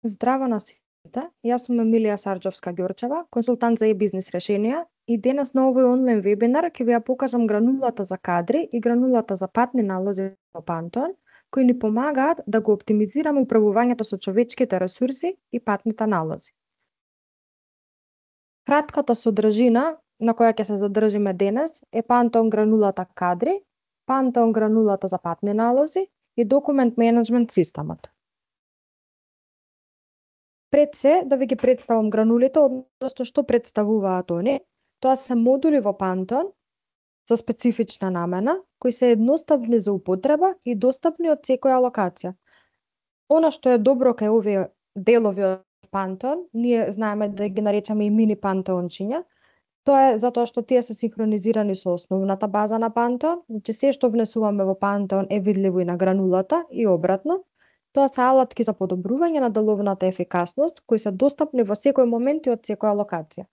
Здраво на сите, јас сум Емилија Сарџовска-Ѓорчева, консултант за e-бизнес решенија и денес на овој онлайн вебинар ќе ви ја покажам гранулата за кадри и гранулата за патни налози во Pantone, кои ни помагаат да го оптимизираме управувањето со човечките ресурси и патните налози. Кратката содржина на која ќе се задржиме денес е Pantone гранулата кадри, Pantone гранулата за патни налози и документ менеджмент системот. Пред се да ви ги представам гранулите, односно што представуваат они. Тоа се модули во Pantone за специфична намена, кои се едноставни за употреба и достапни од секоја локација. Она што е добро кај овие делови од Pantone, ние знаеме да ги наречеме и мини пантончиња, тоа е затоа што тие се синхронизирани со основната база на Pantone, значи се што внесуваме во Pantone е видливо и на гранулата и обратно. Тоа се алатки за подобрување на деловната ефикасност, кои се достапни во секој момент и од секоја локација.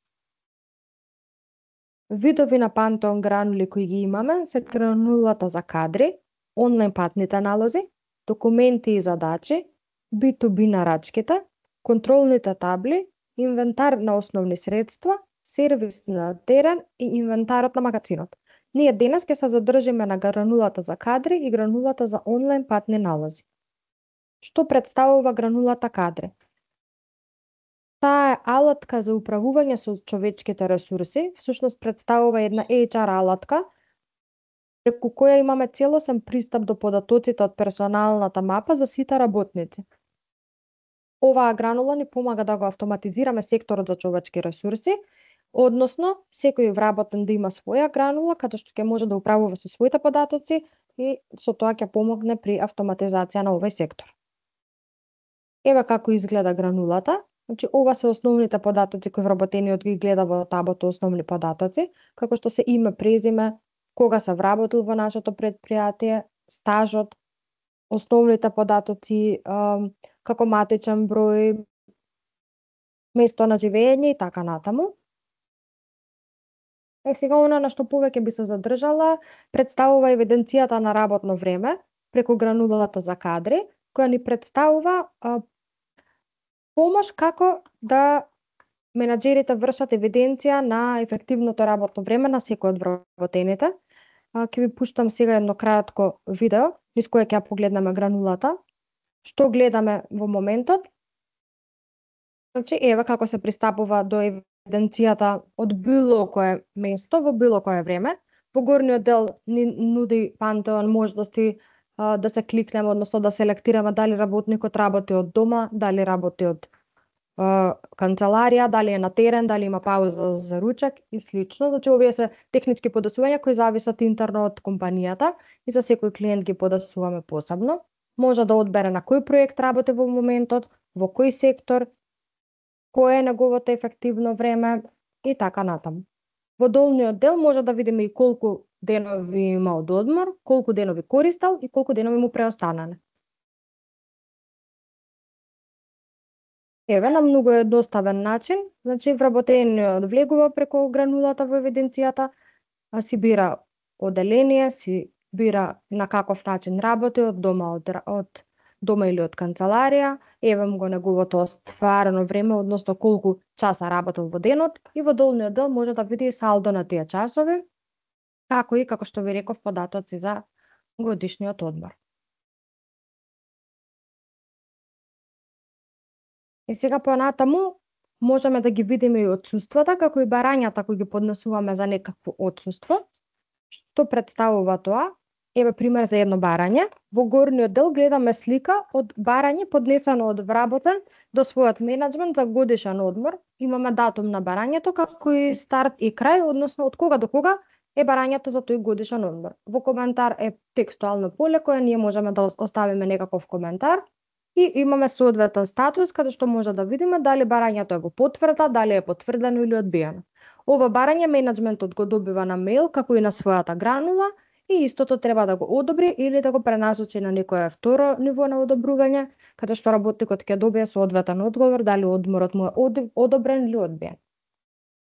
Видови на Pantone гранули кои ги имаме се гранулата за кадри, онлайн патните налози, документи и задачи, B2B нарачките, контролните табли, инвентар на основни средства, сервис на терен и инвентарот на магазинот. Ние денес ќе се задржиме на гранулата за кадри и гранулата за онлайн патни налози. Што представува гранулата кадри? Таа е алатка за управување со човечките ресурси, всушност представува една HR алатка, преку која имаме целосен пристап до податоците од персоналната мапа за сите работници. Оваа гранула ни помага да го автоматизираме секторот за човечки ресурси, односно секој вработен да има своја гранула, каде што ќе може да управува со своите податоци и со тоа ќе помогне при автоматизација на овој сектор. Еве како изгледа гранулата. Значи, ова се основните податоци кои вработениот ги гледа во табото основни податоци, како што се име, презиме, кога се вработил во нашето предпријатие, стажот, основните податоци, како матичен број, место на живење и така натаму. Сега она на што повеќе би се задржала, представува евиденцијата на работно време преку гранулата за кадри, која ни представува помош како да менаџерите вршат евиденција на ефективното работно време на секој од вработените. Ќе ви пуштам сега едно кратко видео, низ кое ќе погледнеме гранулата. Што гледаме во моментот? Значи, еве како се пристапува до евиденцијата од било кое место, во било кое време. Во горниот дел ни нуди Pantone можности да се кликнеме, односно да селектираме дали работникот работи од дома, дали работи од канцеларија, дали е на терен, дали има пауза за ручек и слично. Значи, овие се технички подесувања кои зависат интерно од компанијата и за секој клиент ги подесуваме посебно. Може да одбере на кој проект работи во моментот, во кој сектор, кое е неговото ефективно време и така натаму. Во долниот дел може да видиме и колку денови има од одмор, колку денови користел и колку денови му преостанале. Еве на многу едноставен начин, значи вработениот влегува преку гранулата во евиденцијата, си бира оделение, си бира на каков начин работи, од дома или од канцеларија, еве му го неговото остварено време, односно колку часа работел во денот, и во долниот дел може да види салдо на тие часови, како и, како што ви реков, податоци за годишниот одмор. И сега понатаму можеме да ги видиме и отсуствата, како и барањата кои ги поднесуваме за некакво отсуство. Што представува тоа? Еве пример за едно барање. Во горниот дел гледаме слика од барање поднесено од вработен до својот менеджмент за годишен одмор. Имаме датум на барањето, како и старт и крај, односно од кога до кога е барањето за тој годишен одмор. Во коментар е текстуално поле кое ние можеме да оставиме некаков коментар и имаме соодветен статус каде што може да видиме дали барањето е во потврда, дали е потврдено или одбиено. Ова барање менеджментот го добива на мејл како и на својата гранула и истото треба да го одобри или да го пренасочи на некое второ ниво на одобрување, каде што работникот ќе добие соодветен одговор дали одморот му е одобрен или одбиен.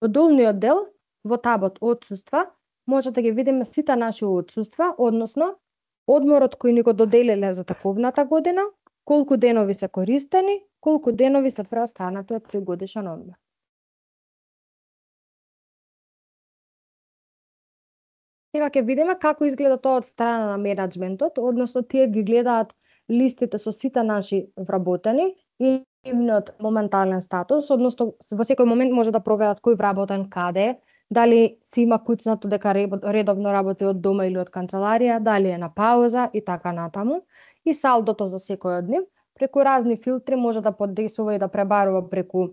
Во долниот дел, во табот отсуства, може да ги видиме сите наши отсуства, односно одморот кој ни го доделиле за таковната година, колку денови се користени, колку денови се преостанати од 3-годишен одмор. Сега ќе видиме како изгледа тоа од страна на менаџментот, односно тие ги гледаат листите со сите наши вработени и нивниот моментален статус, односно во секој момент може да проверат кој вработен каде е, дали си има куцнато дека редовно работи од дома или од канцеларија, дали е на пауза и така натаму. И салдото за секој од нив, преку разни филтри може да подесува и да пребарува преку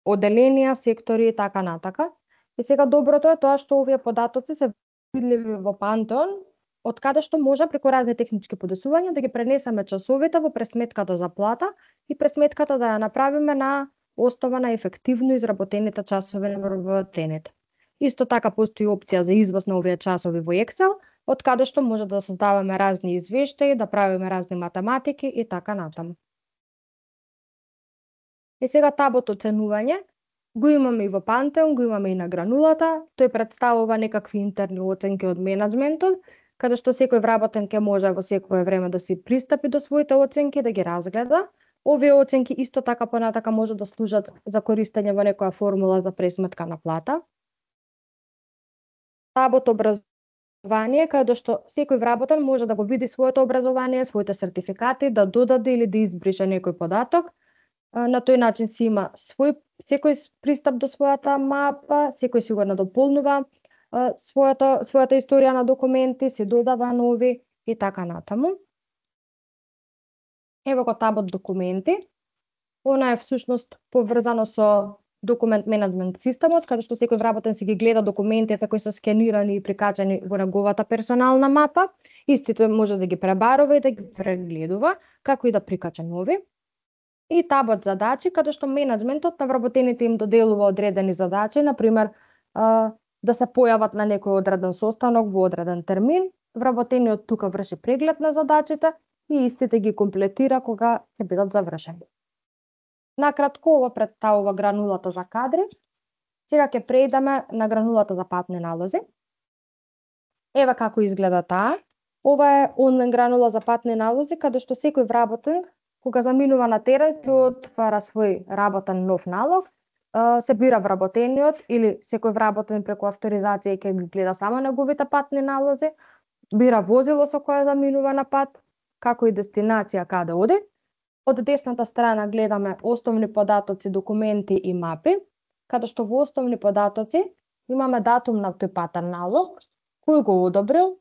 оделенија, сектори и така натака. И сега доброто е тоа што овие податоци се видливи во Пантеон, од каде што може преку разни технички подесувања да ги пренесеме часовите во пресметката за плата и пресметката да ја направиме на основа на ефективно изработените часови на вработените. Исто така постои опција за извоз на овие часови во Excel, од каде што може да создаваме разни извештаи, да правиме разни математики и така натаму. И сега табот оценување го имаме и во Пантеон, го имаме и на гранулата. Тој представува некакви интерни оценки од менаџментот, каде што секој вработен ќе може во секое време да си пристапи до своите оценки, да ги разгледа. Овие оценки исто така понатака може да служат за користење во некоја формула за пресметка на плата. Табот образование, каде што секој вработен може да го види своето образование, своите сертификати, да додаде или да избрише некој податок. На тој начин си има секој пристап до својата мапа, секој си го надополнува својата историја на документи, се додава нови и така натаму. Ево го табот документи. Она е всушност поврзано со документ менеджмент системот, каде што секој вработен си ги гледа документите кои се скенирани и прикачани во неговата персонална мапа. Истите може да ги пребарува и да ги прегледува, како и да прикача нови. И табот задачи, каде што менеджментот на вработените им доделува одредени задачи, например, да се појават на некој одреден состанок во одреден термин, вработениот тука врши преглед на задачите и истите ги комплетира кога ќе бидат завршени. Накратко, ова представува гранулата за кадри. Сега ќе преидеме на гранулата за патни налози. Ева како изгледа таа. Ова е онлайн гранула за патни налози, каде што секој вработен кога заминува на терен, се отвара свој работен нов налог, се бира вработениот или секој вработен преку авторизација ќе ги гледа само неговите патни налози, бира возило со кое заминува на пат, како и дестинација каде оди. Од десната страна гледаме основни податоци, документи и мапи, каде што во основни податоци имаме датум на тој патен налог, кој го одобрил,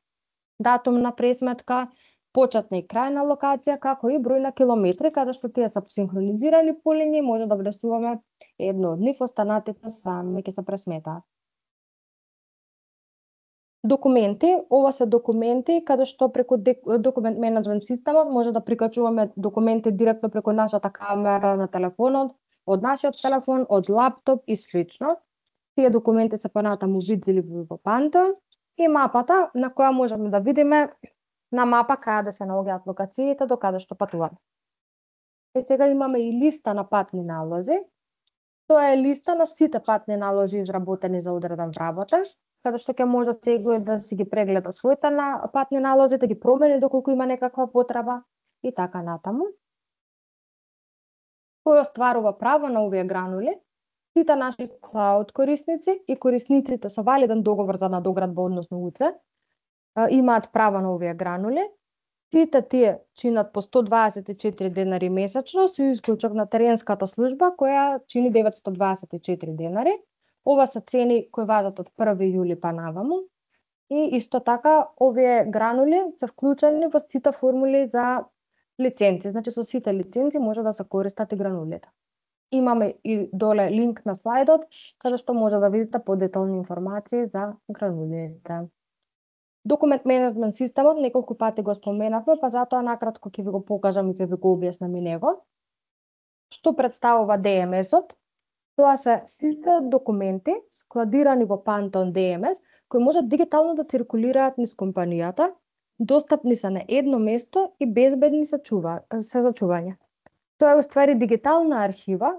датум на пресметка, почетна и крајна локација, како и број на километри, каде што тие се синхронизирани по линии, може да влесуваме едно од нив, останатите сами ќе се пресметаат. Документи, ова се документи каде што преку документ менеджмент системот може да прикачуваме документи директно преку нашата камера на телефонот, од нашиот телефон, од лаптоп и слично. Тие документи се понатаму видливи во Пантеон и мапата на која можеме да видиме на мапа каде се наоѓаат локациите, до каде што патуваме. И сега имаме и листа на патни налози. Тоа е листа на сите патни налози изработени за одреден вработен, каде што ќе може секој да си ги прегледа своите патни налози, да ги промени доколку има некаква потреба и така натаму. Кој остварува право на овие гранули? Сите наши клауд корисници и корисниците со валиден договор за надоградба, односно УЦ, имаат право на овие гранули. Сите тие чинат по 124 денари месечно, со исклучок на теренската служба која чини 924 денари. Ова се цени кои важат од 1 јули па наваму. И исто така овие гранули се вклучени во сите формули за лиценци. Значи со сите лиценци може да се користат и гранулите. Имаме и доле линк на слайдот, каде што може да видите подетални информации за гранулите. Документ менеджмент системот неколку пати го споменавме, па затоа накратко ќе ви го покажам и ќе ви го објаснам и него. Што представува DMS-от? Тоа се сите документи складирани во Pantone DMS, кои можат дигитално да циркулираат низ компанијата, достапни се на едно место и безбедни се за чување. Тоа е уствари дигитална архива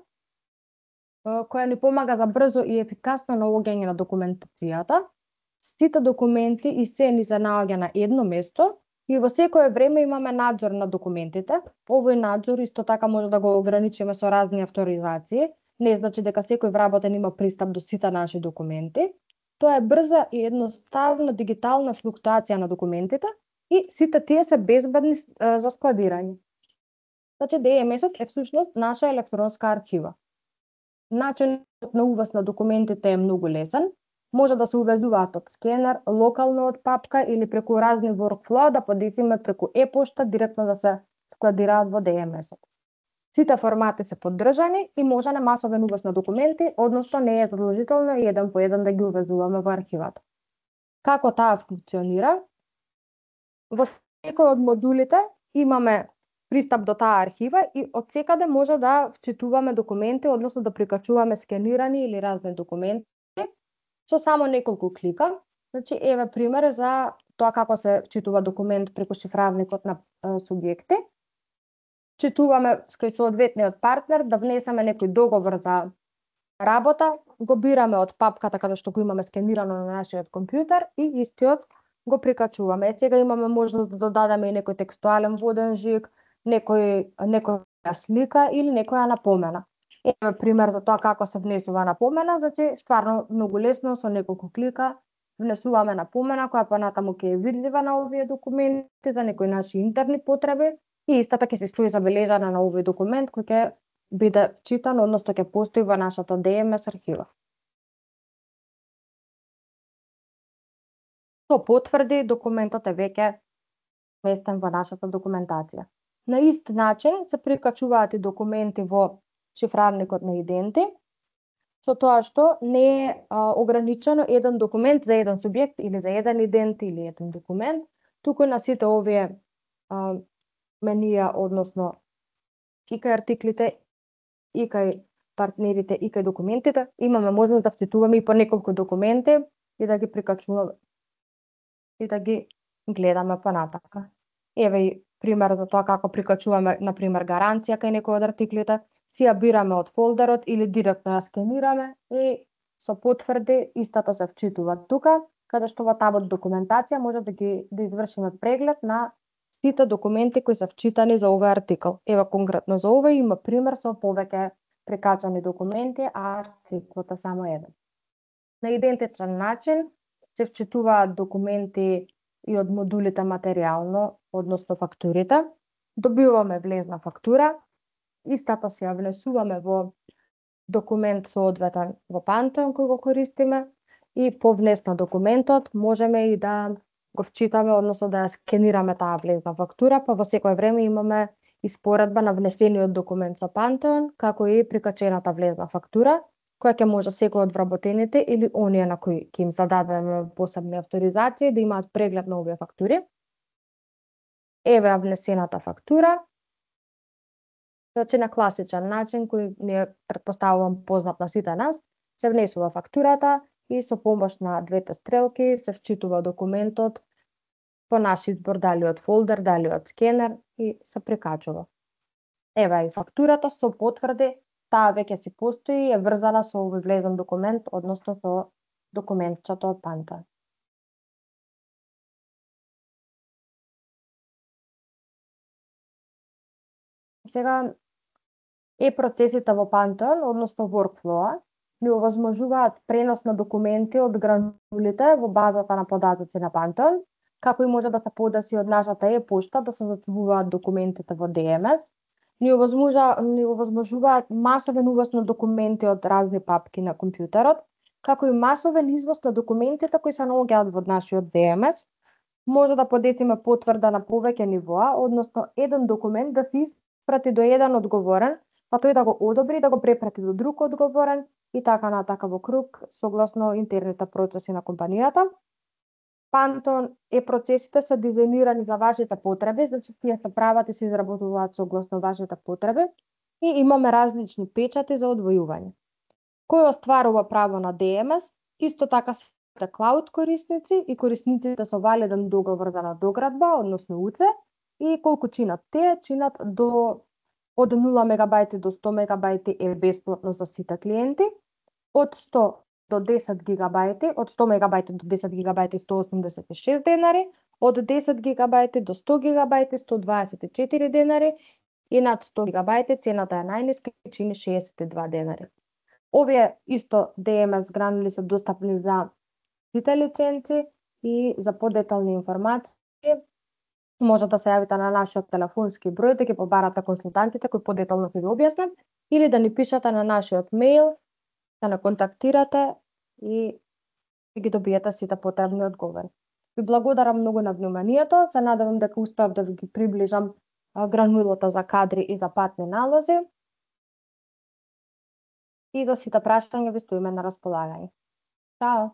која ни помага за брзо и ефикасно наоѓање на документацијата. Сите документи и се ни се наоѓа на едно место И во секое време имаме надзор на документите. Овој надзор исто така може да го ограничиме со разни авторизации. Не значи дека секој вработен има пристап до сите наши документи. Тоа е брза и едноставна дигитална флуктуација на документите и сите тие се безбедни за складирање. Значи, DMS-от е всушност наша електронска архива. Начинот на увез на документите е многу лесен. Може да се увезуваат од скенер, локално од папка или преку разни workflow, да подесиме преку e-пошта, директно да се складираат во DMS-от. Сите формати се поддржани и може на масовен увез на документи, односно не е задолжително еден по еден да ги увезуваме во архивата. Како таа функционира? Во секој од модулите имаме пристап до таа архива и од секаде може да вчитуваме документи, односно да прикачуваме скенирани или разни документи со само неколку клика. Значи, еве пример за тоа како се вчитува документ преку шифравникот на субјекти. Читуваме кај соодветниот партнер да внесеме некој договор за работа, го бираме од папката каде што го имаме скенирано на нашиот компјутер и истиот го прикачуваме. Сега имаме можност да додадеме и некој текстуален воден жиг, некоја слика или некоја напомена. Еве пример за тоа како се внесува напомена, значи стварно многу лесно со неколку клика внесуваме напомена која понатаму ќе е видлива на овие документи за некои наши интерни потреби и истата ќе се стои забележана на овој документ кој ќе биде читан, односно ќе постои во нашата DMS архива. Со потврди документот е веќе вместен во нашата документација. На ист начин се прикачуваат и документи во шифравникот на иденти, со тоа што не е ограничено еден документ за еден субјект или за еден идент или еден документ, туку на сите овие менија, односно и кај артиклите, и кај партнерите, и кај документите, имаме можност да вчитуваме и по неколку документи и да ги прикачуваме и да ги гледаме понатака. Еве и пример за тоа како прикачуваме, например, гаранција кај некој од артиклите, си ја бираме од фолдерот или директно ја скенираме и со потврди истата се вчитува тука, каде што во табот документација може да извршиме преглед на сите документи кои се вчитани за овој артикл. Еве конкретно за овој има пример со повеќе прикачани документи, а артиклот е само еден. На идентичен начин се вчитуваат документи и од модулите материјално, односно фактурите. Добиваме влезна фактура, истата се ја внесуваме во документ соодветен во Pantone кој го користиме и по внес на документот можеме и да го вчитаме, односно да ја скенираме таа влезна фактура, па во секое време имаме испоредба на внесениот документ со Pantone, како и прикачената влезна фактура, која ќе може секој од вработените или оние на кои ќе им зададеме посебни авторизации да имаат преглед на овие фактури. Еве ја внесената фактура. Значи на класичен начин, кој не претпоставувам познат на сите нас, се внесува фактурата и со помош на двете стрелки се вчитува документот по наш избор, дали од фолдер, дали од скенер и се прикачува. Еве и фактурата со потврди, таа веќе си постои и е врзана со овој влезен документ, односно со документчето од Pantone. Сега процесите во Pantone, односно workflow, ни овозможуваат пренос на документи од гранулите во базата на податоци на Pantone, како и може да се подаси од нашата e-пошта да се зачувуваат документите во DMS. Ни овозможуваат масовен увоз на документи од разни папки на компјутерот, како и масовен извоз на документите кои се наоѓаат во нашиот DMS. Може да подесиме потврда на повеќе нивоа, односно еден документ да се испрати до еден одговорен, па тој да го одобри, да го препрати до друг одговорен и така натака во круг, согласно интерните процеси на компанијата. Pantone процесите се дизајнирани за вашите потреби, значи тие се прават и се изработуваат согласно вашите потреби и имаме различни печати за одвојување. Кој остварува право на DMS, исто така се клауд корисници и корисниците со валиден договор за надоградба, односно УЦ, и колку чинат тие, чинат од 0 мегабајти до 100 мегабајти е бесплатно за сите клиенти, од 100 до 10 гигабајти, од 100 мегабајти до 10 гигабајти 186 денари, од 10 гигабајти до 100 гигабајти 124 денари и над 100 гигабајти цената е најниска и чини 62 денари. Овие исто DMS гранули се достапни за сите лиценци и за подетални информации може да се јавите на нашиот телефонски број да ги побарате консултантите кои подетално ќе ви објаснат или да ни пишете на нашиот мејл, да не контактирате и ги добиете сите потребни одговори. Ви благодарам многу на вниманието, се надевам дека успеав да ви ги приближам гранулата за кадри и за патни налози. И за сите прашања ви стоиме на располагање. Чао!